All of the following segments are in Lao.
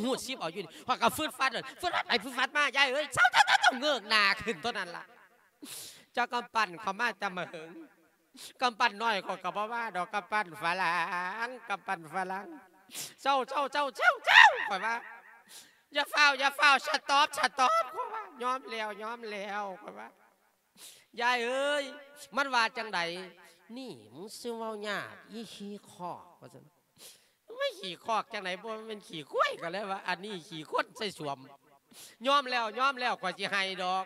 ຮູດສິບເອົາຢູ່ນີ້ ຂ້ອຍກໍຟຶດຟັດ ຟຶດຟັດໄປຟຶດຟັດມາ ຍາຍເອີຍ ເຊົາໆໆໆ ເງີຍໜ້າຂຶ້ນເທົ່ານັ້ນລະ ເຈົ້າກຳປັ່ນເຂົ້າມາແຕ່ມາເຫິງ ກຳປັ່ນນ້ອຍຂ້ອຍກໍບໍ່ວ່າດອກ ກຳປັ່ນຝຣັ່ງ ກຳປັ່ນຝຣັ່ງ ເຊົາໆໆໆ ຂ້ອຍວ່າ ຢ່າຟ້າວ ຢ່າຟ້າວ ສະຕັອບ ສະຕັອບ ຂ້ອຍວ່າ ຍອມແລ້ວ ຍອມແລ້ວ ຂ້ອຍວ່າ ຍາຍເອີຍ ມັນວ່າຈັ່ງໃດ? ນີ້ ມຶງຊິເວົ້າຍາກ ອີຂີ້ຄອກ ວ່າຊັ້ນ. ໂອ້ຍ ຂີ້ຄອກຈັ່ງໃດ ບໍ່ແມ່ນຂີ້ຄວາຍ ກໍເລີຍວ່າ ອັນນີ້ຂີ້ຄົນໃສ່ສ້ວມ. ຍອມແລ້ວ ຍອມແລ້ວ ຂ້ອຍຊິໃຫ້ດອກ.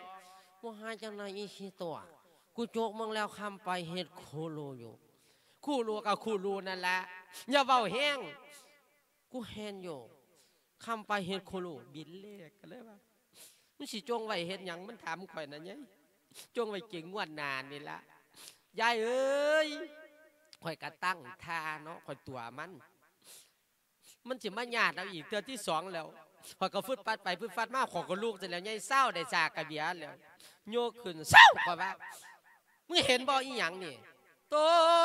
ບໍ່ໃຫ້ຈັ່ງໃດ ອີຂີ້ຕົວະ ກູຈົກມຶງແລ້ວ ຄຳໄປເຮັດຄູລູຢູ່ ຄູລູກໍຄູລູນັ້ນລະ ຢ່າເວົ້າແຮງ. ກູເຫັນຢູ່ ຄຳໄປເຮັດຄູລູ ບິນເລກ ກໍເລີຍວ່າ ມັນຊິຈົ່ງໄວ້ເຮັດຫຍັງ? ມັນຖາມຂ້ອຍນະ ຍາຍ ຈົ່ງໄວ້ກິນງວດໜ້ານີ້ລະ ຍາຍເອີຍ. ຂ້ອຍກະຕັ້ງທ່າເນາະ ຂ້ອຍຕົວະມັນ ມັນຊິມາຍາດເອົາອີກເທື່ອທີສອງແລ້ວ. ຂ້ອຍກໍຟຶດຟັດໄປຟຶດຟັດມາ ຂ້ອຍກໍລຸກຊັ້ນແລ້ວ ຍາຍ ເຊົາ ໄດ້ສາກກະເບຍແລ້ວ ຍົກຂຶ້ນ ເຊົາ ຂ້ອຍວ່າ ມຶງເຫັນບໍ່ ອີຫຍັງນີ້? ໂຕ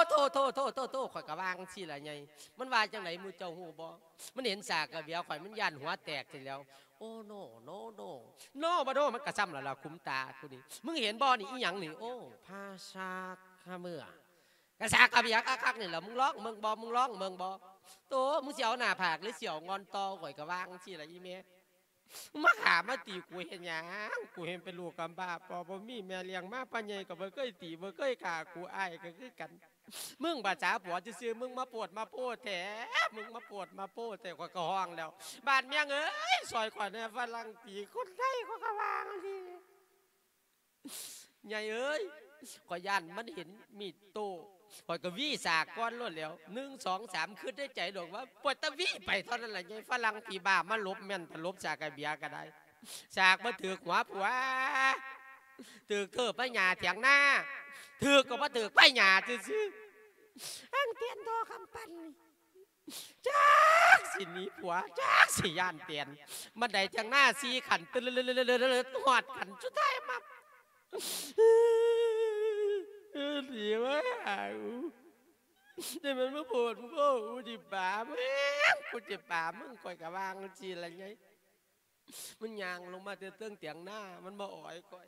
ໂຕ ໂຕ ໂຕ ໂຕ ໂຕ ຂ້ອຍກໍວ່າຈັ່ງຊີ້ລະ ໃຫຍ່. ມັນວ່າຈັ່ງໃດ ໝູ່ເຈົ້າຮູ້ບໍ່? ມັນເຫັນສາກກະເບຍຂ້ອຍ ມັນຢ້ານຫົວແຕກຊີ້ແລ້ວ. ໂອ້ ໂນ ໂນ ໂນ ໂນ ບໍ່ໂນ ມັນກໍຊ້ຳລະລະ ຂຸມຕາກູນີ້. ມຶງເຫັນບໍ່ນີ້ ອີຫຍັງນີ້? ໂອ້ ພາສາກກະເບຍ ກະສາກກະເບຍຄັກໆນີ້ລະ ມຶງລອງເບິ່ງບໍ່ ມຶງລອງເບິ່ງບໍ່? ໂຕ ມຶງຊິເອົາໜ້າຜາກ ຫຼື ຊິເອົາງອນຕໍ່? ຂ້ອຍກໍວ່າຈັ່ງຊີ້ລະ ອີແມ່. ມາຂ້າມາຕີກູເຮັດຫຍັງ? ກູເຫັນເປັນລູກກຳພ້າ ພໍ່ບໍ່ມີແມ່ລ້ຽງມາ ພໍ່ໃຫຍ່ກໍບໍ່ເຄີຍຕີ ບໍ່ເຄີຍຂ້າກູ ອ້າຍກໍຄືກັນ. ມຶງພາສາຜົວຊື່ໆ ມຶງມາໂພດມາໂພແທ້ ມຶງມາໂພດມາໂພແທ້. ຂ້ອຍກໍຮ້ອງແລ້ວ ບາດແມ່ງເອີຍ ຊ່ອຍຂ້ອຍແດ່ ຝຣັ່ງຕີຄົນໄທ ຂ້ອຍກໍວ່າຈັ່ງຊີ້. ໃຫຍ່ເອີຍ ຂ້ອຍຢ້ານມັນເຫັນມີດໂຕ້ ຂ້ອຍກໍຫວີສາກກ່ອນໂລດແລ້ວ ໜຶ່ງ ສອງ ສາມ ຄິດໃນໃຈດອກວ່າ ປວດຕະຫວີໄປເທົ່ານັ້ນລະ ໃຫຍ່ ຝຣັ່ງຜີບ້າມາຫຼົບແມ່ນ ຕະຫຼົບສາກກະເບຍກໍໄດ້ ສາກບໍ່ຖືກຫົວຜົວ ຖືກເທີບໄມ້ຫຍ້າຖຽງນາ ຖືກກໍບໍ່ຖືກໄມ້ຫຍ້າຊື່ໆ ຫາງຕຽນທໍ່ຄຳປັ່ນນີ້ ຈັກຊິໜີຜົວ ຈັກຊິຢ້ານຕຽນ ບັນໄດທຽງນາສີ່ຂັ້ນ ຕຶດ ຮອດຂັ້ນສຸດທ້າຍມາ ເອີ ດີວ່າ ແຕ່ມັນມາໂພດ ໂອ້ ກູຊິປາມຶງ ກູຊິປາມຶງ ຂ້ອຍກໍວ່າຈັ່ງຊີ້ລະ ໃຫຍ່. ມັນຍ່າງລົງມາແຕ່ເທິງຕຽງນາ ມັນມາອ້ອຍຂ້ອຍ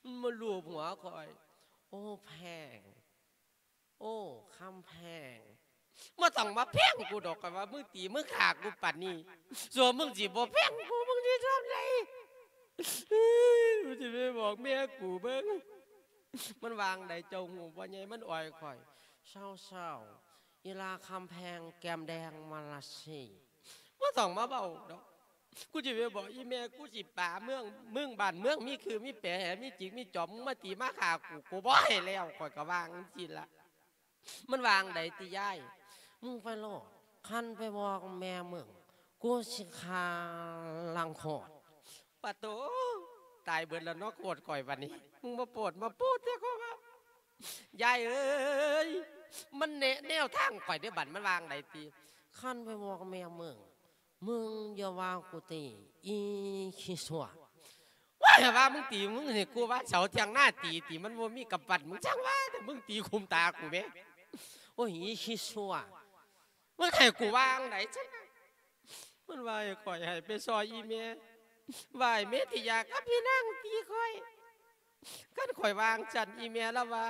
ມັນມາລູບຫົວຂ້ອຍ ໂອ້ ແພງ ໂອ້ ຄຳແພງ ບໍ່ຕ້ອງມາແພງກູດອກ ຂ້ອຍວ່າ ມຶງຕີມຶງຂ້າກູປານນີ້ ສ່ວນມຶງຊິບໍ່ແພງກູ ມຶງຊິຊ່ຳໃດ? ກູຊິໄປບອກແມ່ກູເບິ່ງ ມັນວ່າຈັ່ງໃດ ເຈົ້າຮູ້ບໍ່ໃຫຍ່? ມັນອ້ອຍຂ້ອຍ ເຊົາໆ ອີລາຄຳແພງ ແກ້ມແດງມາລາຊີ ບໍ່ຕ້ອງມາເວົ້າດອກ ກູຊິໄປບອກອີ່ແມ່ ກູຊິປາເມືອງ ມຶງ ບ້ານເມືອງມີຄືມີແປ ມີຈິກມີຈອມ ມຶງມາຕີມາຂ້າກູ ກູບໍ່ໃຫ້ແລ້ວ ຂ້ອຍກໍວ່າຈັ່ງຊີ້ລະ ມັນວ່າຈັ່ງໃດຕິຍາຍ? ມຶງໄປໂລດ ຄັນໄປບອກແມ່ມຶງ ກູຊິຂ້າລ້າງໂຄດ ປະໂຕ ຕາຍເບິດແລ້ວເນາະ ໂຄດຂ້ອຍບັດນີ້ ມຶງມາໂປດມາໂປດແທ້ ຂ້ອຍວ່າ ຍາຍເອີຍ ມັນແນະແນວທາງຂ້ອຍເດ້ບັດ ມັນວ່າຈັ່ງໃດຕິ? ຄັນໄປບອກແມ່ມຶງ ມຶງຢ່າວ່າກູຕີ ອີຂີ້ຊົ່ວ ວ່າແຕ່ວ່າມຶງຕີ ມຶງໃຫ້ກູວ່າເສົາຖຽງນາຕີຕິ ມັນບໍ່ມີກຳປັດ ມຶງຊ່າງວ່າ ແຕ່ມຶງຕີຂຸມຕາກູແມ ໂອ້ຍ ອີຂີ້ຊົ່ວ ມຶງໃຫ້ກູວ່າຈັ່ງໃດຊັ້ນນະ? ມັນວ່າໃຫ້ຂ້ອຍໃຫ້ໄປຊ່ອຍອີ່ແມ່ ວ່າໃຫ້ເມທິຍາກັບພີ່ນາງຕີຂ້ອຍ ຄັນຂ້ອຍວ່າຈັ່ງຊັ້ນ ອີ່ແມ່ລາວວ່າ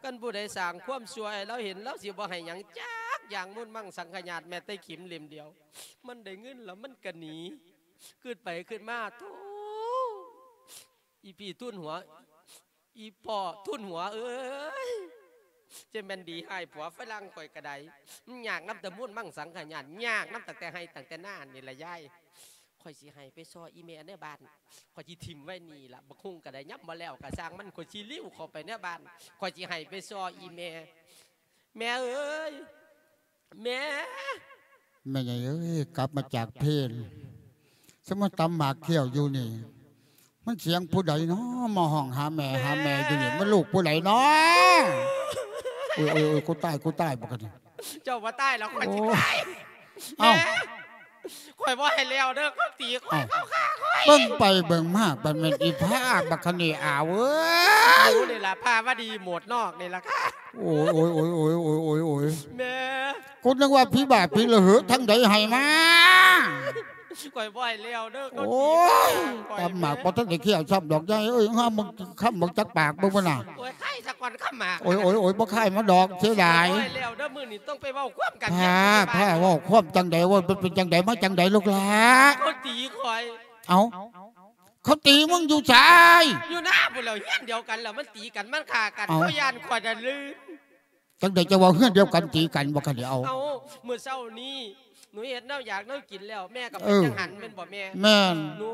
ຄັນຜູ້ໃດສ້າງຄວາມຊົ່ວໃຫ້ລາວເຫັນ ລາວຊິບໍ່ໃຫ້ຫຍັງຈັກຢ່າງ ມຸນມັງສັງຂະຍາດ ແມ້ແຕ່ຂີມເຫຼັ້ມດຽວ ມັນໄດ້ເງິນແລ້ວມັນກະໜີ ຄິດໄປຄິດມາ ໂທ້ ອີ່ພີ່ທຸນຫົວ ອີ່ພໍ່ທຸນຫົວເອີຍ ຈະແມ່ນດີໃຫ້ຜົວຝຣັ່ງຂ້ອຍກະໄດ້ ມັນຍາກນຳແຕ່ມຸນມັງສັງຂະຍາດ ຍາກນຳຕັ້ງແຕ່ໄຮ່ຕັ້ງແຕ່ນານີ້ລະຍາຍ ຂ້ອຍຊິໃຫ້ໄປຊ່ອຍອີ່ແມ່ໃນບ້ານ ຂ້ອຍຊິຖິ້ມໄວ້ນີ້ລະ ບັກຫຸ່ງກະໄດ້ ຍາມບໍ່ແລ້ວກະຊ່າງມັນ ຂ້ອຍຊິລິ້ວເຂົ້າໄປໃນບ້ານ ຂ້ອຍຊິໃຫ້ໄປຊ່ອຍອີ່ແມ່ ແມ່ເອີຍ ແມ່ ແມ່ໃຫຍ່ເອີຍ ກັບມາຈາກເພນ ສະມາຕຳໝາກກ້ຽວຢູ່ນີ້ ມັນສຽງຜູ້ໃດເນາະ ມາຮ້ອງຫາແມ່ ຫາແມ່ຢູ່ນີ້ ມັນລູກຜູ້ໃດເນາະ? ໂອ້ຍ ໂອ້ຍ ໂອ້ຍ ກູຕາຍ ກູຕາຍ ບັກອັນນີ້ ເຈົ້າບໍ່ຕາຍແລ້ວ ຂ້ອຍຊິຕາຍ ເອົ້າ ແມ່ ຂ້ອຍບໍ່ໃຫ້ແລ້ວເດີ ເຂົາຕີຂ້ອຍ ເອົ້າ ເຂົາຂ້າຂ້ອຍ ເບິ່ງໄປເບິ່ງມາ ບັດແມ່ນອີ່ພ້າບັກຄະເນອາວເອີຍ ກູນີ້ລະພາວະດີໂໝດນອກນີ້ລະຄ່ະ ໂອ້ຍ ໂອ້ຍ ໂອ້ຍ ແມ່ ກູນຶກວ່າຜີບ້າຜີລະເຫີ ທາງໃດໃຫ້ມາ ຂ້ອຍບໍ່ໃຫ້ແລ້ວເດີ ໂອ້ຍ ຕຳໝາກບໍ່ທັນໄດ້ຄ້ຽວຊ້ຳດອກ ຍາຍເອີຍ ຫາມຶງຄຳບັກຈັກປາກເບິ່ງພຸ້ນນະ ໂອ້ຍ ຄາຍສາກ່ອນຄຳໝາກ ໂອ້ຍ ໂອ້ຍ ໂອ້ຍ ບໍ່ຄາຍມາດອກ ເສຍດາຍ ຂ້ອຍບໍ່ໃຫ້ແລ້ວເດີ ມື້ນີ້ຕ້ອງໄປເວົ້າຄວາມກັນ ພາ ພາເວົ້າຄວາມຈັ່ງໃດ ເວົ້າເປັນ ເປັນຈັ່ງໃດ ມາຈັ່ງໃດ ລູກຫຼານ ເຂົາຕີຂ້ອຍ ເອົ້າ ເຂົາຕີມຶງຢູ່ໃສ? ຢູ່ນາພຸ້ນແຫຼ້ວ ເຮືອນດຽວກັນແລ້ວ ມັນຕີກັນ ມັນຂ້າກັນ ເອົ້າ ເຂົາຢ້ານຂ້ອຍນັ້ນລື ຈັ່ງໃດ ເຈົ້າເວົ້າເຮືອນດຽວກັນຕີກັນບໍ່ ຄັນດຽວ ເອົ້າ ມື້ເຊົ້ານີ້ ໜູເຮັດແນວຢາກແນວກິນແລ້ວ ແມ່ກໍໄປ ເອີ ຈັງຫັນແມ່ນບໍ່ແມ່? ແມ່ນ ໜູ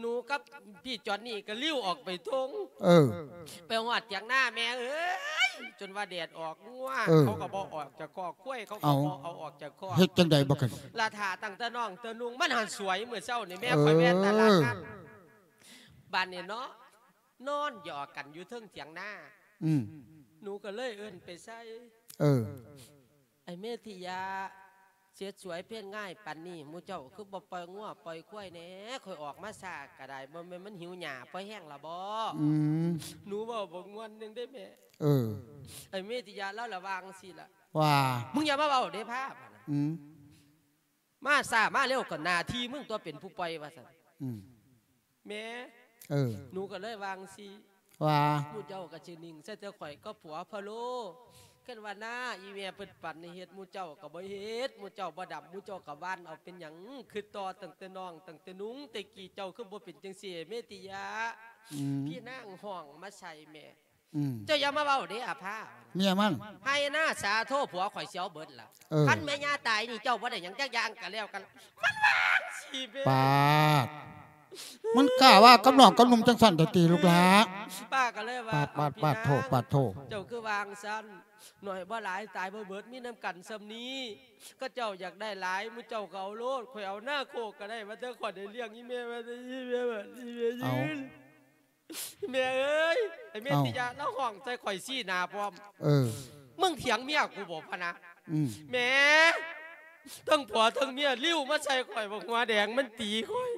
ໜູກັບພີ່ຈອນນີ້ກໍລິ້ວອອກໄປທົ່ງ ເອີ ໄປຮອດຖຽງນາ ແມ່ເອີຍ ຈົນວ່າແດດອອກ ງົວ ເອີ ເຂົາກໍບໍ່ອອກຈາກຄອກ ຄວາຍເຂົາກໍ ເອົ້າ ບໍ່ເອົາອອກຈາກຄອກ ເຮັດຈັ່ງໃດບັດນີ້ ລະຖ້າຕັ້ງແຕ່ນ້ອງແຕ່ນຸ່ງ ມັນຫັ້ນສວຍ ມື້ເຊົ້ານີ້ແມ່ ເອີ ຂ້ອຍແວ່ນຕະຫຼາດນັດ ບາດນີ້ເນາະ ນອນຢອກກັນຢູ່ເທິງຖຽງນາ ອືມ ໜູກໍເລີຍເອີ້ນໄປໃສ່ ເອີ ອ້າຍເມທິຍະ ເສັດສວຍເພນງ່າຍປານນີ້ ໝູ່ເຈົ້າຄືບໍ່ປ່ອຍງົວປ່ອຍຄວາຍແດ່? ຂ້ອຍອອກມາຊ້າກໍໄດ້ ບໍ່ແມ່ນມັນຫິວຫຍ້າພໍແຮງລະບໍ? ອືມ ໜູເວົ້າບໍ່ມ່ວນຈັ່ງໃດແມ່ ເອີ ອ້າຍເມທິຍະລາວລະວ່າຈັ່ງຊີ້ລະ ວ່າ ມຶງຢ່າມາເວົ້າເດ້ພາ ອືມ ມາຊ້າມາເລັວກໍໜ້າທີ່ມຶງຕົວະເປັນຜູ້ປ່ອຍ ວ່າຊັ້ນ ອືມ ແມ່ ເອີ ໜູກໍເລີຍວ່າຈັ່ງຊີ້ ວ່າ ໝູ່ເຈົ້າກໍຊິນິ່ງໃສ່ແຕ່ຂ້ອຍກັບຜົວພະໂລ ຄັນວ່ານາອີ່ແມ່ເພິ່ນປັນໃຫ້ເຮັດ ໝູ່ເຈົ້າກໍບໍ່ເຮັດ ໝູ່ເຈົ້າບໍ່ດຳ ໝູ່ເຈົ້າກໍຫວ່ານເອົາ ເປັນຫຍັງຄຶດຕໍ່ຕັ້ງແຕ່ນ້ອງ ຕັ້ງແຕ່ນຸ່ງແຕ່ກີ້ ເຈົ້າຄືບໍ່ເປັນຈັ່ງຊີ້ ເມຕິຍະ ອືມ ພີ່ນາງຮ້ອງມາໃສ່ແມ່ ອືມ ເຈົ້າຢ່າມາເວົ້າເດ້ອາພາ ເມຍມັນ ໄຮ່ນາສາໂທ ຜົວຂ້ອຍຊິເອົາເບິດລະ ເອີ ຄັນແມ່ຍ່າຕາຍນີ້ ເຈົ້າບໍ່ໄດ້ຫຍັງຈັກຢ່າງກໍແລ້ວກັນ ມັນວ່າຈັ່ງຊີ້ແມ່ ປາດ ມັນກ້າວ່າກັບນ້ອງກັບໜຸ່ມຈັ່ງຊັ້ນແທ້ຕິລູກຫຼາ ປ້າກໍເລີຍວ່າ ປາດ ປາດ ປາດໂທ ປາດໂທ ເຈົ້າຄືວ່າຈັ່ງຊັ້ນ ໜ້ອຍບໍ່ຫຼາຍຕາຍບໍ່ເບິດ ມີນຳກັນສ່ຳນີ້ ເຂົາເຈົ້າຢາກໄດ້ຫຼາຍ ໝູ່ເຈົ້າກໍເອົາໂລດ ຂ້ອຍເອົານາໂຄກກໍໄດ້ ວ່າແຕ່ຂ້ອຍໄດ້ລ້ຽງອີ່ແມ່ ວ່າແຕ່ອີ່ແມ່ ວ່າອີ່ແມ່ ເອົ້າ ຍືນ ແມ່ເອີຍ ໄອ້ເມ ເອົ້າ ຕິຍະລາວຮ້ອງໃສ່ຂ້ອຍຊີ້ໜ້າພ້ອມ ເອີ ມຶງຖຽງເມຍກູບໍພະນະ ອືມ ແມ່ ທັງຜົວທັງເມຍລິ້ວມາໃສ່ຂ້ອຍ ບັກຫົວແດງມັນຕີຂ້ອຍ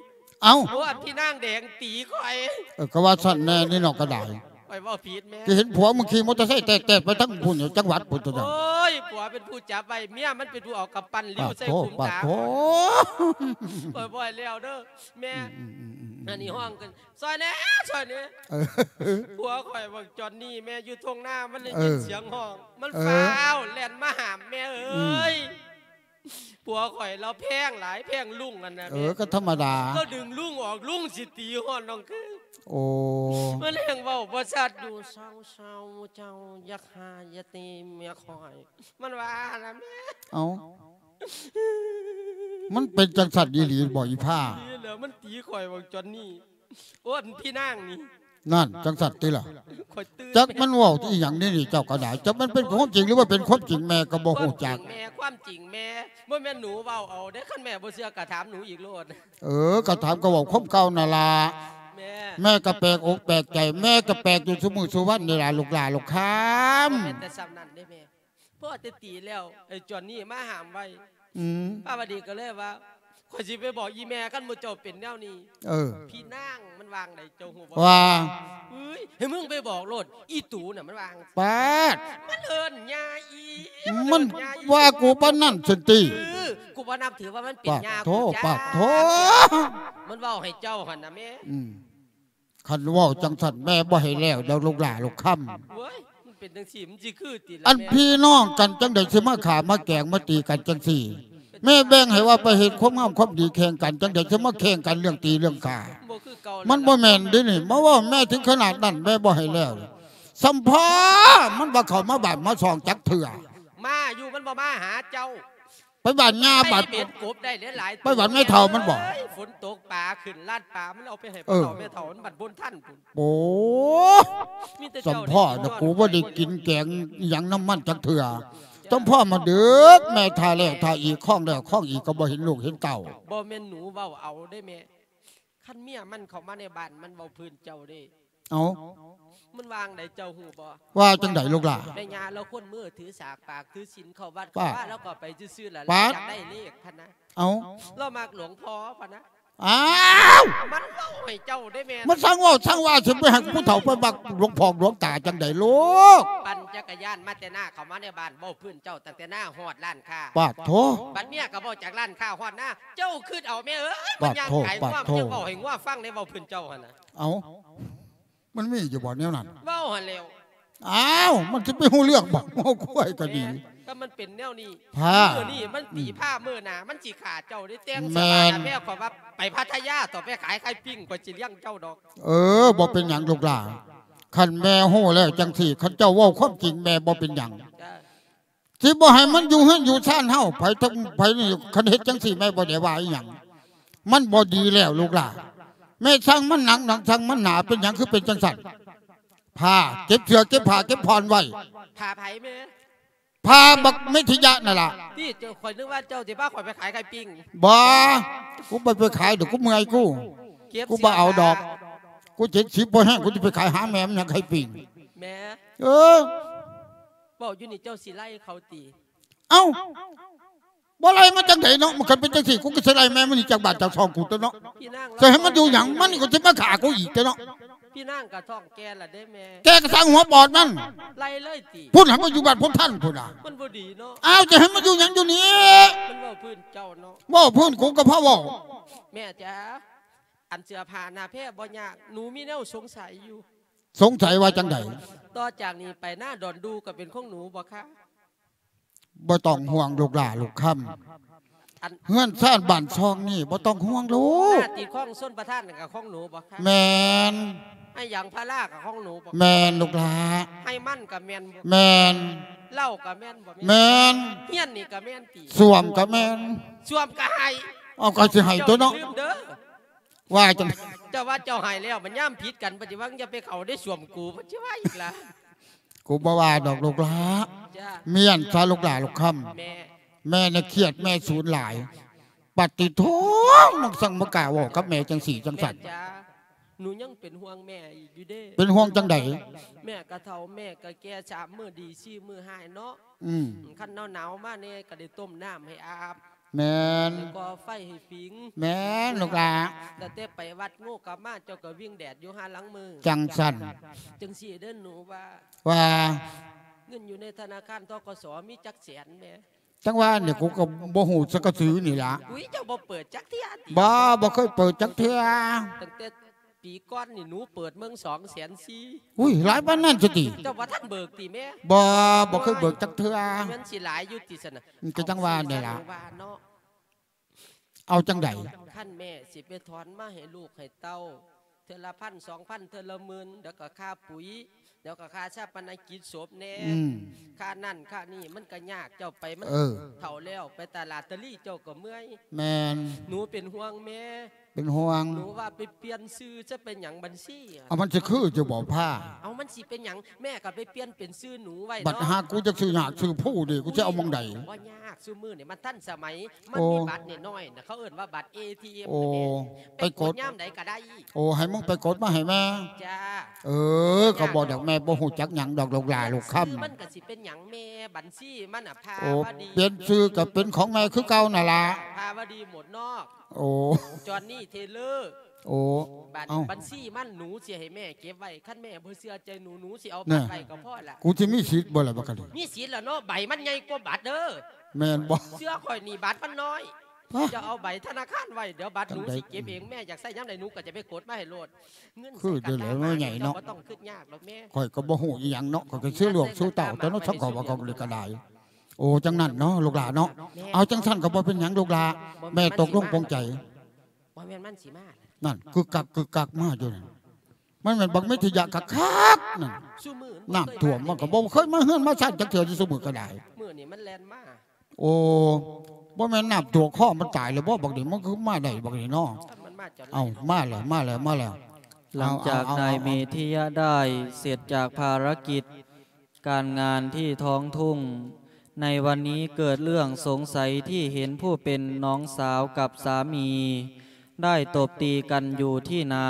ເອົ້າ ໂອ້ ອັນພີ່ນາງແດງຕີຂ້ອຍ ເອີ ກໍວ່າຊັ້ນແນ່ນີ້ເນາະ ກໍໄດ້ ຂ້ອຍເວົ້າຜິດແມ່ ທີ່ເຫັນຜົວມຶງຂີ່ມໍເຕີໄຊແຕກໆໄປທັງພຸ້ນ ຈັງຫວັດພຸ້ນຕົວະ ໂອ້ຍ ຜົວເປັນຜູ້ຈັບໄວ້ ເມຍມັນເປັນຜູ້ເອົາກຳປັ້ນລິ້ວໃສ່ກຸ້ມຕາຂ້ອຍ ຂ້ອຍບໍ່ໃຫ້ແລ້ວເດີແມ່ ອືມໆໆໆ ອັນນີ້ຮ້ອງກັນ ຊ່ອຍແດ່ ຊ່ອຍແດ່ ເອີ ຜົວຂ້ອຍບັກຈອນນີ້ແມ່ ຢູ່ທົ່ງນາ ມັນໄດ້ຍິນ ເອີ ສຽງຮ້ອງ ມັນ ເອີ ຟ້າວແລ່ນມາຫ້າມແມ່ເອີຍ ອືມ ຜົວຂ້ອຍລາວແພງຫຼາຍ ແພງລຸງຫັ້ນນະ ເອີ ແມ່ ກໍທຳມະດາ ລາວດຶງລຸງອອກ ລຸງຊິຕີຮອດນ້ອງຄືນ ໂອ້ ມັນແຮ່ງເວົ້າບໍ່ຊັດຢູ່ ເຊົາໆ ເຈົ້າຢ່າຂ້າຢ່າຕີເມຍຂ້ອຍ ມັນວ່າຫັ້ນນະແມ່ ເອົ້າ ມັນເປັນຈັ່ງຊັ້ນອີ່ຫຼີບໍອີ່ພາ ນີ້ແຫຼະ ມັນຕີຂ້ອຍບັກຈອນນີ້ ໂອ້ ອັນພີ່ນາງນີ້ ນັ້ນ ຈັ່ງຊັ້ນຕິລະ ຂ້ອຍຕື່ນ ຈັກມັນເວົ້າອີ່ຫຍັງນີ້ ນີ້ເຈົ້າກໍໄດ້ ຈັກມັນເປັນຄວາມຈິງ ຫຼືວ່າເປັນຄວາມຈິງ ແມ່ກໍບໍ່ຮູ້ຈັກ ຄວາມຈິງແມ່ ຄວາມຈິງແມ່ ບໍ່ແມ່ນໜູເວົ້າເອົາເດ້ ຄັນແມ່ບໍ່ເຊື່ອກໍຖາມໜູອີກໂລດ ເອີ ກໍຖາມ ກໍເວົ້າຄວາມເກົ່ານັ້ນລະ ແມ່ ແມ່ກໍແປກອົກແປກໃຈ ແມ່ກໍແປກຢູ່ຊຸມື້ຊຸວັນນີ້ລະ ລູກຫຼ້າລູກຄຳ ບໍ່ແມ່ນແຕ່ສ່ຳນັ້ນເດ້ແມ່ ພໍແຕ່ຕີແລ້ວ ໄອ້ຈອນນີ້ມາຫ້າມໄວ້ ອືມ ປ້າວະດີກໍເລີຍວ່າ ຂ້ອຍຊິໄປບອກອີ່ແມ່ ຄັນໝູ່ເຈົ້າເປັນແນວນີ້ ເອີ ພີ່ນາງມັນວ່າຈັ່ງໃດເຈົ້າຮູ້ບໍ່? ວ່າ ເອີຍ ໃຫ້ມຶງໄປບອກໂລດ ອີ່ຕູນະ ມັນວ່າ ປາດ ມັນເອີ້ນຍ່າອີ່ ມັນ ມັນເອີ້ນຍ່າອີ່ ວ່າກູປານນັ້ນຊັ້ນຕິ ເອີ ກູບໍ່ນັບຖືວ່າມັນເປັນຍ່າ ປາດໂທ ກູຈ້າ ປາດໂທ ມັນເວົ້າໃຫ້ເຈົ້າຫັ້ນນະແມ່ ອືມ ຄັນເວົ້າຈັ່ງຊັ້ນແມ່ບໍ່ໃຫ້ແລ້ວດອກລູກຫຼ້າລູກຄຳ ໂອ້ຍ ມັນເປັນຈັ່ງຊີ້ ມັນຊິຄືຕິລະ ອັນ ແມ່ ພີ່ນ້ອງກັນຈັ່ງໃດຊິມາຂ້າມາແກງມາຕີກັນຈັ່ງຊີ້ ແມ່ແບ່ງໃຫ້ວ່າໄປເຮັດຄວາມງາມຄວາມດີແຂ່ງກັນ ຈັ່ງໃດຊິມາແຂ່ງກັນເລື່ອງຕີເລື່ອງຂ້າ ບໍ່ຄືເກົ່າ ມັນບໍ່ແມ່ນເດ້ນີ້ ມາເວົ້າແມ່ເຖິງຂະໜາດນັ້ນ ແມ່ບໍ່ໃຫ້ແລ້ວ ສ່ຳພໍ່ມັນບໍ່ເຂົ້າມາບ້ານມາຊ່ອງຈັກເທື່ອ ມາຢູ່ ມັນບໍ່ມາຫາເຈົ້າ ໄປບ້ານຍ່າ ໄປບັດເບັດກົບໄດ້ຫຼາຍໆ ໄປບ້ານແມ່ເຖົ້າມັນບໍ ເອີຍ ຝົນຕົກປາຂຶ້ນລາດປາ ມັນເອົາໄປໃຫ້ ເອີ ພໍ່ເຖົ້າແມ່ເຖົ້າ ມັນບັດບໍ່ທັນພຸ້ນ ໂອ້ ມີແຕ່ ສ່ຳພໍ່ນະ ເຈົ້າໄດ້ກິນ ກູບໍ່ໄດ້ກິນແກງອີ່ຫຍັງນຳມັນຈັກເທື່ອ ສ່ຳພໍ່ມາດຶກ ແມ່ຖ້າແລ້ວຖ້າອີກ ຄອງແລ້ວຄອງອີກ ກໍບໍ່ເຫັນລູກເຫັນເຕົ້າ ບໍ່ແມ່ນໜູເວົ້າເອົາເດ້ແມ່ ຄັນເມຍມັນເຂົ້າມາໃນບ້ານ ມັນເວົ້າພື້ນເຈົ້າເດ້ ເອົ້າ ມັນວ່າຈັ່ງໃດເຈົ້າຮູ້ບໍ່? ວ່າຈັ່ງໃດລູກຫຼ້າ? ແມ່ຍ່າລາວຄົນມືຖືສາກປາກຖືສິນເຂົ້າວັດເຂົ້າວາ ລາວກໍໄປຊື່ໆລະ ຢາກໄດ້ເລກພະນະ ເອົ້າ ລາວມັກຫຼວງພໍ່ພະນະ ອ້າວ ມັນເວົ້າ ໃຫ້ເຈົ້າເດ້ແມ່ນ ມັນຊ່າງເວົ້າຊ່າງວ່າ ຊິໄປໃຫ້ຜູ້ເຖົ້າໄປມັກຫຼວງພໍ່ຫຼວງຕາຈັ່ງໃດລູກ? ປັ່ນຈັກກະຍານມາແຕ່ນາເຂົ້າມາໃນບ້ານ ເວົ້າພື້ນເຈົ້າຕັ້ງແຕ່ນາຮອດຮ້ານຄ້າ. ປາດໂທ ບັດເມຍກໍເວົ້າຈາກຮ້ານຄ້າຮອດນາ ເຈົ້າຄິດເອົາແມ່ເອີຍ ມັນຍ່າງກາຍງວ ປາດໂທ ມັນຍັງເວົ້າໃຫ້ງວຟັງໃນເວົ້າພື້ນເຈົ້າຫັ້ນນະ. ເອົ້າ ມັນມີຢູ່ບໍ່ແນວນັ້ນ? ເວົ້າຫັ້ນແລ້ວ. ອ້າວ ມັນຊິໄປຮູ້ເລື່ອງບໍ່? ງົວຄວາຍກໍດີ ແມ່ນ ກໍມັນເປັນແນວນີ້ ພາ ມື້ນີ້ມັນຕີພາ ອືມ ມື້ໜ້າມັນຊິຂ້າເຈົ້າໄດ້ແຕ່ງ ແມ່ນ ເສື້ອຜ້າໜ້າແພ ຂ້ອຍວ່າໄປພັດທະຍາຕໍ່ ໄປຂາຍໄຂ່ປີ້ງ ຂ້ອຍຊິລ້ຽງເຈົ້າດອກ. ເອີ ບໍ່ເປັນຫຍັງລູກຫຼ້າ ຄັນແມ່ຮູ້ແລ້ວຈັ່ງຊີ້ ຄັນເຈົ້າເວົ້າຄວາມຈິງ ແມ່ບໍ່ເປັນຫຍັງ. ຈ້າ ຊິບໍ່ໃຫ້ມັນຢູ່ເຮືອນຢູ່ຊານເຮົາ ໃຜທັງໃຜນີ້ ຄັນເຮັດຈັ່ງຊີ້ ແມ່ບໍ່ໄດ້ວ່າອີຫຍັງ ມັນບໍ່ດີແລ້ວລູກຫຼ້າ. ແມ່ຊ່າງມັນໜັກ ໜັກຊ່າງມັນໜາ ເປັນຫຍັງຄືເປັນຈັ່ງຊັ້ນ? ພາເກັບເສື້ອເກັບຜ້າເກັບຜ່ອນໄວ້. ຜ້າໃຜແມ່? ຜ້າບັກເມທິຍະນັ້ນລະ. ຕິ ເຈົ້າ ຂ້ອຍນຶກວ່າເຈົ້າຊິພາຂ້ອຍໄປຂາຍໄຂ່ປີ້ງ. ບໍ່ ກູບໍ່ໄປຂາຍດອກ ກູເມື່ອຍກູ ເກັບ ກູບໍ່ເອົາດອກ ເສື້ອຜ້າ ກູເຈັດສິບພໍແຮງ ກູຈະໄປຂາຍຫາແມ່ມັນຫຍັງໄຂ່ປີ້ງ. ແມ່ ເອີ ເວົ້າຢູ່ນີ້ເຈົ້າຊິໄລ່ເຂົາຕິ? ເອົ້າ ບໍ່ໄລ່ມັນຈັ່ງໃດເນາະ ມັນຄັນເປັນຈັ່ງຊີ້ ກູກໍຊິໄລ່ແມ່ມັນໜີຈາກບ້ານຈາກຊ່ອງກູຕົວະເນາະ. ຊິໃຫ້ມັນຢູ່ຫຍັງ ມັນກໍຊິມາຂ້າກູອີກຕົວະເນາະ. ພີ່ນາງກໍທ້ອງແກ່ລະເດ້ແມ່. ແກ່ກໍຊ່າງຫົວປອດມັນ ໄລ່ເລີຍຕິ? ພຸ້ນ ໃຫ້ມັນຢູ່ບ້ານພຸ້ນທັນພຸ້ນນະ ມັນບໍ່ດີເນາະ. ອ້າວ ຈະໃຫ້ມັນຢູ່ຫຍັງຢູ່ນີ້? ມັນເວົ້າພື້ນເຈົ້າເນາະ ເວົ້າພື້ນກູກໍພໍເວົ້າ. ແມ່ຈ໋າ ອັນເສື້ອຜ້າໜ້າແພບໍ່ຍາກ ໜູມີແນວສົງໄສຢູ່. ສົງໄສວ່າຈັ່ງໃດ? ຕໍ່ຈາກນີ້ໄປນາດອນດູກໍເປັນຂອງໜູບໍ່ຄະ? ບໍ່ຕ້ອງຫ່ວງລູກຫຼ້າລູກຄຳ ອັນ ເຮືອນຊານບ້ານຊ່ອງນີ້ບໍ່ຕ້ອງຫ່ວງລູກ. ໜ້າຕິດຄອງຊົນປະທານນັ້ນກໍຂອງໜູບໍ່ຄະ? ແມ່ນ. ໃຫ້ຢາງພາລາກໍຂອງໜູບໍ່ຄະ? ແມ່ນລູກຫຼ້າ. ໃຫ້ມັນກໍແມ່ນບໍ່? ແມ່ນ. ເຫຼົ້າກໍແມ່ນບໍ່ແມ່? ແມ່ນ. ຮຽນນີ້ກໍແມ່ນຕິ? ສ້ວມກໍແມ່ນ. ສ້ວມກໍໃຫ້. ເອົາ ກໍຊິໃຫ້ຕົວະເນາະ. ເຈົ້າຢ່າລືມເດີ ວ່າຈັ່ງ ເຈົ້າວ່າເຈົ້າໃຫ້ແລ້ວ ມັນຍາມຜິດກັນ ປະຕິວັງຢ່າໄປເຂົ້າໃນສ້ວມກູ ມັນຊິວ່າອີກລະ. ກູບໍ່ວ່າດອກລູກຫຼ້າ. ຈ້າ ມ້ຽນຊະລູກຫຼ້າລູກຄຳ. ແມ່ ແມ່ນະຄຽດ ແມ່ສູນຫຼາຍ. ປະຕິໂທ ມັນຊ່າງມາກ້າເວົ້າກັບແມ່ຈັ່ງຊີ້ຈັ່ງຊັ້ນ. ແມ່ຈ໋າ ໜູຍັງເປັນຫ່ວງແມ່ອີກຢູ່ເດ້. ເປັນຫ່ວງຈັ່ງໃດ? ແມ່ກໍເຖົ້າ ແມ່ກໍແກ່ ສາມມື້ດີ ສີ່ມື້ຮ້າຍເນາະ. ອືມ ຄັນໜາວໆມາແດ່ກໍໄດ້ຕົ້ມນ້ຳໃຫ້ອາບ. ແມ່ນ. ໄດ້ກໍ່ໄຟໃຫ້ຜິງ. ແມ່ນລູກຫຼ້າ. ຕັ້ງແຕ່ໄປວັດໂງກັບມາ ເຈົ້າກໍວິ່ງແດດຢູ່ຫາຫຼັງມື. ຈັ່ງຊັ້ນ. ຈັ່ງຊີ້ເດີ ໜູວ່າ ວ່າ ເງິນຢູ່ໃນທະນາຄານ ທກສ ມີຈັກແສນແດ່? ຈັ່ງວ່ານີ້ ກູກໍບໍ່ຮູ້ຈັກກະຊື່ນີ້ລະ. ອຸ້ຍ ເຈົ້າບໍ່ເປີດຈັກເທື່ອຕິ? ບໍ່ ບໍ່ເຄີຍເປີດຈັກເທື່ອ. ຕັ້ງແຕ່ ປີກ່ອນນີ້ໜູເປີດເບິ່ງສອງແສນສີ່. ອຸ້ຍ ຫຼາຍປານນັ້ນຊະຕິ? ເຈົ້າບໍ່ທັນເບີກຕິແມ່? ບໍ່ ບໍ່ເຄີຍເບີກຈັກເທື່ອ. ມັນຊິຫຼາຍຢູ່ຕິຊັ້ນນະ? ອືມ ກໍຈັ່ງວ່ານີ້ລະ. ວ່າເນາະ ເອົາຈັ່ງໃດ? ຄັນແມ່ຊິໄປຖອນມາໃຫ້ລູກໃຫ້ເຕົ້າ ເທື່ອລະພັນສອງພັນ ເທື່ອລະໝື່ນ ແລ້ວກໍຄ່າປຸ໋ຍ ແລ້ວກໍຄ່າຊາປະນະກິດສົບແດ່ ອືມ ຄ່ານັ້ນຄ່ານີ້ ມັນກໍຍາກ. ເຈົ້າໄປ ມັນ ເອີ ເຖົ້າແລ້ວ ໄປຕະຫຼາດຕະລີ ເຈົ້າກໍເມື່ອຍ. ແມ່ນ. ໜູເປັນຫ່ວງແມ່. ເປັນຫ່ວງ. ໜູວ່າໄປປ່ຽນຊື່ຊະ ເປັນຫຍັງບັນຊີ? ເອົາ ມັນຊິຄືຢູ່ບໍ່ພາ? ເອົາ ມັນຊິເປັນຫຍັງ? ແມ່ກໍໄປປ່ຽນເປັນຊື່ໜູໄວ້ເນາະ. ບັດຫາກູຈັກຊື່ຍາກຊື່ພູເດ ກູຊິເອົາໝ່ອງໃດ? ບໍ່ຍາກ ຊຸມື້ນີ້ມັນທັນສະໄໝ ມັນ ໂອ້ ມີບັດນ້ອຍໆນະ ເຂົາເອີ້ນວ່າບັດ ເອທີເອັມ ໂອ້ ໄປກົດ ໄປກົດຍາມໃດກໍໄດ້. ໂອ້ ໃຫ້ມຶງໄປກົດມາໃຫ້ແມ່. ຈ້າ. ເອີ ກໍບອກດອກ ແມ່ບໍ່ຮູ້ຈັກຫຍັງດອກ ລູກຫຼ້າລູກຄຳ. ຊື່ມັນກໍຊິເປັນຫຍັງແມ່? ບັນຊີມັນນະ ພາ ໂອ້ ວະດີ. ປ່ຽນຊື່ກໍເປັນຂອງແມ່ຄືເກົ່ານັ້ນລະ ພາວະດີ ໝົດນອກ. ໂອ້ ຈອນນີ້ ເທເລີ. ໂອ້ ບັນ ເອົ້າ ບັນຊີມັນ ໜູຊິໃຫ້ແມ່ເກັບໄວ້. ຄັນແມ່ບໍ່ເຊື່ອໃຈໜູ ໜູຊິເອົາບັດໄວ້ກໍພໍລະ. ກູຊິມີສິດບໍ່ລະບັດນີ້? ມີສິດລະເນາະ ໃບມັນໃຫຍ່ກວ່າບັດເດີ. ແມ່ນບໍ່? ເຊື່ອຂ້ອຍນີ້ ບັດມັນນ້ອຍ. ເຈົ້າເອົາໃບທະນາຄານໄວ້ ດຽວບັດໜູຊິເກັບເອງ. ແມ່ຢາກໃຊ້ຍາມໃດ ໜູກໍຈະໄປກົດມາໃຫ້ໂລດ. ເງິນ ຄືເດີແຫຼະ ເນາະ ໃຫຍ່ເນາະ. ເຈົ້າບໍ່ຕ້ອງຄິດຍາກດອກແມ່. ຂ້ອຍກໍບໍ່ຮູ້ອີ່ຫຍັງເນາະ ຂ້ອຍກໍຊື່ໂລກຊື່ເຕົ້າແຕ່ເນາະ ສັງເຂົາວ່າເຂົາເລີຍກໍໄດ້. ໂອ້ ຈັ່ງນັ້ນເນາະ ລູກຫຼ້າເນາະ. ແມ່ນ. ເອົາ ຈັ່ງຊັ້ນກໍບໍ່ເປັນຫຍັງລູກຫຼ້າ. ແມ່ຕົກລົງປົງໃຈ. ບໍ່ແມ່ນມັນຊິມາ. ນັ້ນ ກຶກກັກກຶກກັກມາຢູ່ນັ້ນ ມັນແມ່ນບັກເມທິຍະຄັກໆນັ້ນ. ຊຸມື້ ນ້ຳຖ້ວມມັນກໍບໍ່ເຄີຍມາເຮືອນມາຊານຈັກເທື່ອ ຢູ່ຊຸມື້ກໍໄດ້. ມື້ນີ້ມັນແລ່ນມາ. ໂອ້ ບໍ່ແມ່ນນ້ຳຖ້ວມຄໍມັນຕາຍແລ້ວບໍ່ບັກນີ້? ມັນຄືມາໄດ້ບັກນີ້ເນາະ. ເອົ້າ ມາແລ້ວ ມາແລ້ວ ມາແລ້ວ. ຫຼັງຈາກນາຍເມທິຍະໄດ້ເສັດຈາກພາລະກິດການງານທີ່ທ້ອງທຸ່ງ ໃນວັນນີ້ເກີດເລື່ອງສົງໄສທີ່ເຫັນຜູ້ເປັນນ້ອງສາວກັບສາມີໄດ້ຕົບຕີກັນຢູ່ທີ່ນາ.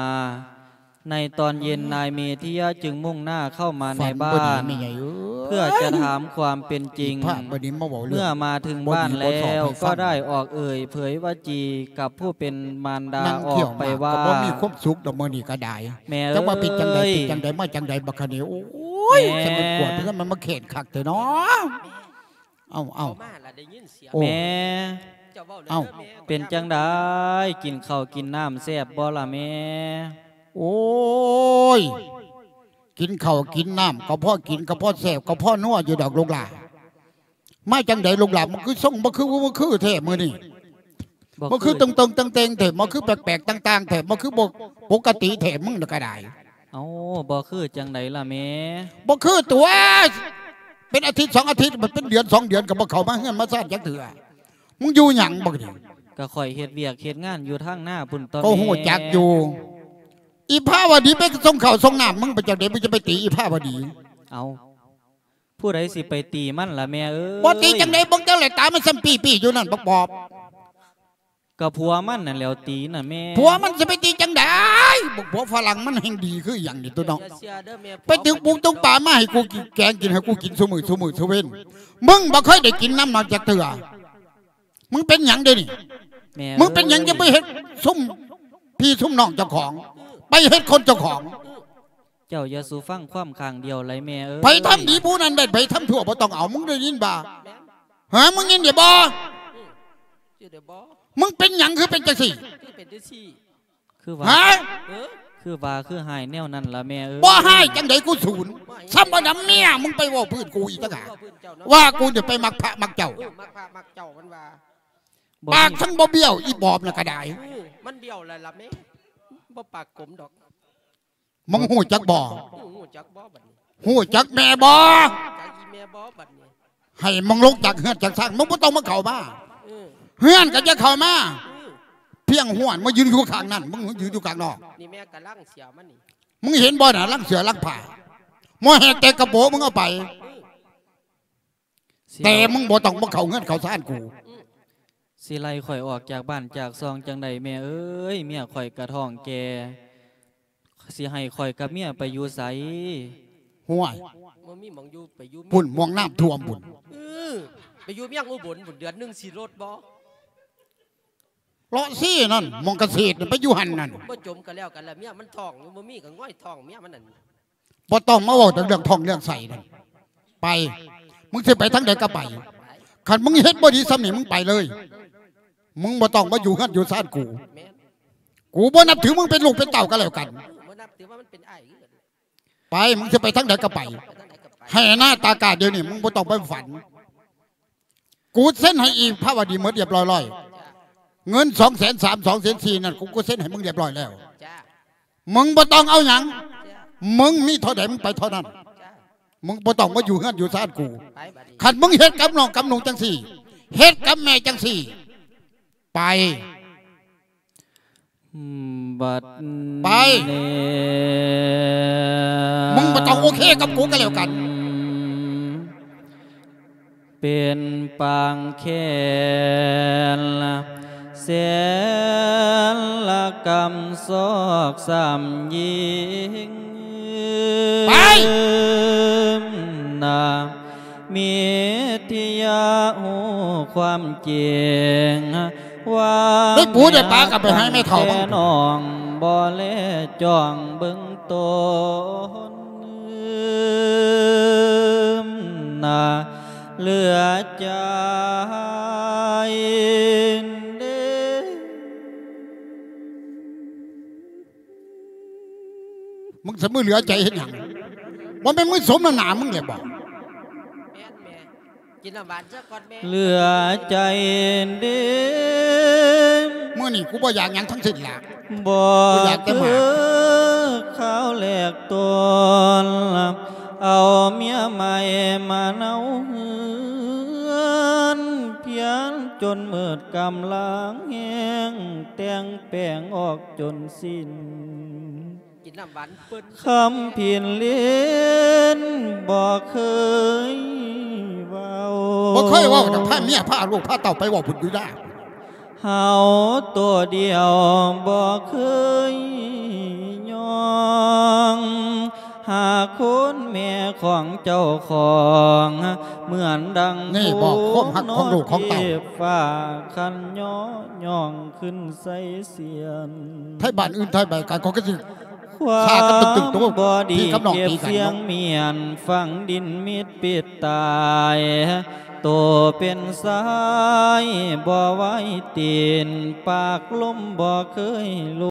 ໃນຕອນເຢັນ ນາຍເມທິຍະຈຶ່ງມຸ່ງໜ້າເຂົ້າມາໃນບ້ານ. ແມ່ໃຫຍ່ເອີຍ. ເພື່ອຈະຖາມຄວາມເປັນຈິງ. ອີພະບັດນີ້ມາເວົ້າເລື່ອງ ເມື່ອມາເຖິງບ້ານແລ້ວ ບໍ່ດີບໍ່ຊອບໃຫ້ຟັງ ກໍໄດ້ອອກເອີ່ຍເຜີຍວາຈີກັບຜູ້ເປັນມານດາອອກໄປວ່າ ນັ່ງທ່ຽວມາກໍບໍ່ມີຄວາມສຸກດອກມື້ນີ້ກໍໄດ້. ແມ່ເອີຍ ຈັກວ່າເປັນຈັ່ງໃດ ເປັນຈັ່ງໃດ ມາຈັ່ງໃດບັກຄະນີ້. ໂອ້ຍ ແມ່ ສະເໝືອນກວດເພິ່ນມັນມາແຂ່ນຄັກແທ້ເນາະ. ເອົ້າ ເອົ້າ ເຂົ້າມາລະໄດ້ຍິນສຽງ. ແມ່ ເຈົ້າເວົ້າແລ້ວ ເອົ້າ ເດີແມ່. ເປັນຈັ່ງໃດ ກິນເຂົ້າກິນນ້ຳແຊບບໍ່ລະແມ່? ໂອ້ຍ ກິນເຂົ້າກິນນ້ຳກໍພໍກິນ ກໍພໍແຊບ ກໍພໍນົວຢູ່ດອກລູກຫຼ້າ. ມາຈັ່ງໃດລູກຫຼ້າ ມັນຄືຊົງ ມັນຄື ມັນຄືແທ້ມື້ນີ້. ບໍ່ຄື ມັນຄືຕຶງໆແຕ່ງໆແທ້ ມັນຄືແປກໆຕ່າງໆແທ້ ມັນຄືບໍ່ປົກກະຕິແທ້ ມຶງນະກະດາຍ. ເອົ້າ ບໍ່ຄືຈັ່ງໃດລະແມ່? ບໍ່ຄືຕົວະ ເປັນອາທິດສອງອາທິດ ມັນເປັນເດືອນສອງເດືອນ ກໍບໍ່ເຂົ້າມາເຮືອນມາຊານຈັກເທື່ອ. ມຶງຢູ່ຫຍັງບັກນີ້? ກໍຂ້ອຍເຮັດວຽກເຮັດງານຢູ່ທາງນາພຸ້ນຕົວະ ກໍຮູ້ຈັກຢູ່. ແມ່ ອີພະວະດີໄປສົ່ງເຂົ້າສົ່ງນ້ຳ ມຶງໄປຈັ່ງໃດ ມຶງຈະໄປຕີອີພະວະດີ? ເອົ້າ ຜູ້ໃດຊິໄປຕີມັນລະແມ່ເອີຍ? ບໍ່ຕີຈັ່ງໃດ ເບິ່ງແຕ່ລະຕາມັນສ່ຳປີ້ໆຢູ່ນັ້ນ ບັກປອບ. ກໍຜົວມັນນັ້ນແຫຼ້ວຕີນະແມ່. ຜົວມັນຊິໄປຕີຈັ່ງໃດ? ບັກຜົວຝຣັ່ງມັນແຮ່ງດີຄືຫຍັງນີ້ຕົວະເນາະ. ໄປຕຶກປຸກຕຶກປາມາໃຫ້ກູກິນ ແກງກິນ ໃຫ້ກູກິນຊຸມື້ ຊຸມື້ຊຸເວັນ. ມຶງບໍ່ເຄີຍໄດ້ກິນນຳມັນຈັກເທື່ອ. ມຶງເປັນຫຍັງເດນີ້? ແມ່ເອີຍ ມຶງເປັນຫຍັງຈັ່ງໄປເຮັດຊຸມພີ່ຊຸມນ້ອງເຈົ້າຂອງ ໄປເຮັດຄົນເຈົ້າຂອງ? ເຈົ້າຢ່າສູ່ຟັງຄວາມຂ້າງດຽວໄຫຼແມ່ເອີຍ. ໃຜທຳດີຜູ້ນັ້ນແມ່ນ ໃຜທຳຊົ່ວບໍ່ຕ້ອງເອົາ. ມຶງໄດ້ຍິນບໍ່? ຮະ ມຶງຍິນໄດ້ບໍ່? ອືມ ຢູ່ໄດ້ບໍ່? ມຶງເປັນຫຍັງຄືເປັນຈັ່ງຊີ້? ຄືເປັນຈັ່ງຊີ້? ຄືວ່າ ຮະ? ເອີ ຄືວ່າຄືຮ້າຍແນວນັ້ນລະແມ່ເອີຍ. ບໍ່ຮ້າຍຈັ່ງໃດ ກູສູນ. ສ່ຳບໍ່ນຳເມຍມຶງໄປເວົ້າພື້ນກູອີກຕ່າງຫາກ ເວົ້າພື້ນເຈົ້າເນາະ ວ່າກູນີ້ໄປມັກພະມັກເຈົ້າ. ເອີ ມັກພະມັກເຈົ້າມັນວ່າ. ບໍ່ ປາກທັງບໍ່ບ້ຽວ ອີປອບນະກະດາຍ. ອື ມັນບ້ຽວແລ້ວລະແມ່ ບໍ່ປາກກົມດອກ. ມຶງຮູ້ຈັກບໍ່? ອື ຮູ້ຈັກບໍ່ບັດນີ້? ຮູ້ຈັກແມ່ບໍ່? ຈັກອີແມ່ບໍ່ບັດນີ້? ໃຫ້ມຶງລົງຈາກເຮືອນຈາກຊານ ມຶງບໍ່ຕ້ອງມາເຂົ້າມາ. ເອີ ເຮືອນກໍຢ່າເຂົ້າມາ. ອື ພຽງຫ້ວນມາຢືນຢູ່ຂ້າງນັ້ນ ມຶງຢືນຢູ່ຂ້າງນອກ. ນີ້ແມ່ກະລັງເສືອມັນນີ້ ມຶງເຫັນບໍ່ນະ? ລັງເສືອລັງຜ້າ ໝໍແຫກແຕກກະໂປະ ມຶງເອົາໄປ. ອື ແຕ່ມຶງບໍ່ຕ້ອງມາເຂົ້າເຮືອນເຂົ້າຊານກູ. ອື ຊິໄລ່ຂ້ອຍອອກຈາກບ້ານຈາກຊ່ອງຈັ່ງໃດແມ່ເອີຍ? ເມຍຂ້ອຍກະທ້ອງແກ່ ຊິໃຫ້ຂ້ອຍກັບເມຍໄປຢູ່ໃສ? ຫ້ວຍ ບໍ່ມີໝ່ອງຢູ່ ໄປຢູ່ ພຸ້ນ ໝ່ອງນ້ຳຖ້ວມພຸ້ນ. ເອີ ໄປຢູ່ເມືອງອຸບົນພຸ້ນ ເດືອນໜຶ່ງຊິລົດບໍ່? ເລາະຊີ້ນັ້ນ ໝ່ອງກະເສດນັ້ນ ໄປຢູ່ຫັ້ນນັ້ນ. ບໍ່ຈົມກໍແລ້ວກັນລະ ເມຍມັນທ້ອງຢູ່ ບໍ່ມີກໍຫງອຍທ້ອງເມຍມັນນັ້ນ. ບໍ່ຕ້ອງມາເວົ້າເລື່ອງທ້ອງເລື່ອງໄສ້ນັ້ນ. ໄປ ມຶງຊິໄປທາງໃດກໍໄປ. ໄປ ຄັນມຶງເຮັດບໍ່ດີສ່ຳນີ້ ມຶງໄປເລີຍ. ມຶງບໍ່ຕ້ອງມາຢູ່ເຮືອນຢູ່ຊານກູ. ແມ່ນ ກູບໍ່ນັບຖືມຶງເປັນລູກເປັນເຕົ້າກໍແລ້ວກັນ. ບໍ່ນັບຖືວ່າມັນເປັນອ້າຍຄືກັນ. ໄປ ມຶງຊິໄປທາງໃດກໍໄປ. ໄປທາງໃດກໍໄປ. ໃຫ້ໜ້າຕາກາດດຽວນີ້ ມຶງບໍ່ຕ້ອງໄປຝັນ. ກູເຊັນໃຫ້ອີພະວະດີໝົດລຽບລ້ອຍໆ. ເງິນສອງແສນສາມ ສອງແສນສີ່ນັ້ນ ກູ ກູເຊັນໃຫ້ມຶງລຽບລ້ອຍແລ້ວ. ມຶງບໍ່ຕ້ອງເອົາຫຍັງ. ມຶງມີເທົ່າໃດ ມຶງໄປເທົ່ານັ້ນ. ມຶງບໍ່ຕ້ອງມາຢູ່ເຮືອນຢູ່ຊານກູ. ໄປບັດນີ້ ຄັນມຶງເຮັດກັບນ້ອງກັບນຸ່ງຈັ່ງຊີ້ ເຮັດກັບແມ່ຈັ່ງຊີ້ ໄປ. ອືມ ບັດ ໄປ ນີ້ ມຶງບໍ່ຕ້ອງໂອເຄກັບກູກໍແລ້ວກັນ. ເປັນປາງແຄ້ນ ແສນລະກຳຊອກຊ້ຳຍິງ ໄປ ນາ ມິດທິຍາຮູ້ຄວາມຈິງ ວ່າ ໄດ້ປູໄດ້ປາກໍໄປໃຫ້ແມ່ເຖົ້າມັນ ແຕ່ນ້ອງບໍ່ແລຈ້ອງເບິ່ງຕົນ ນາ ເຫຼືອໃຈເດ້. ມຶງຊິມືເຫຼືອໃຈເຮັດຫຍັງ? ບໍ່ແມ່ນມຶງສົມນ້ຳໜ້າມຶງແຫຼະບໍ? ແມ່ນແມ່ ກິນນ້ຳຫວານຊະກ່ອນແມ່ ເຫຼືອໃຈເດ້. ມື້ນີ້ກູບໍ່ຢາກຫຍັງທັງສິ້ນລະ ບໍ່ຢາກແຕ່ໝາກ ຄືຄາວແລກຕົ້ນ ເອົາເມຍໃໝ່ມາເນົາເຮືອນ ພຽນຈົນໝົດກຳລັງແຮງ ແຕ່ງແປງອອກຈົນສິ້ນ ກິນນ້ຳຫວານເພິ່ນ ຄຳຜິນຫຼິ້ນບໍ່ເຄີຍເວົ້າ ບໍ່ເຄີຍເວົ້ານຳພາເມຍພາລູກພາເຕົ້າໄປເວົ້າບຸນຢູ່ດາ ເຮົາໂຕດຽວບໍ່ເຄີຍຍອມ ຫາຄົນແມ່ຂອງເຈົ້າຂອງ ເໝືອນດັ່ງ ນີ້ບອກຄວາມຮັກຂອງລູກຂອງເຕົ້າ ຜູ້ນອນເທບຟ້າ ຄັນຍໍຍ້ອງຂຶ້ນໃສ່ສຽນ ໄທບ້ານອື່ນໄທໃບການກໍຄືຊິ ຄວາມ ຊາກັນຕຶກໆ ໂຕ ບໍ່ດີ ພີ່ກັບນ້ອງ ເກັບ ຕີກັນ ສຽງ ເນາະ ມຽນ ຝັງດິນມິດປິດຕາຍ ໂຕເປັນຊາຍບໍ່ໄຫວຕີນ ປາກລົມບໍ່ເຄີຍ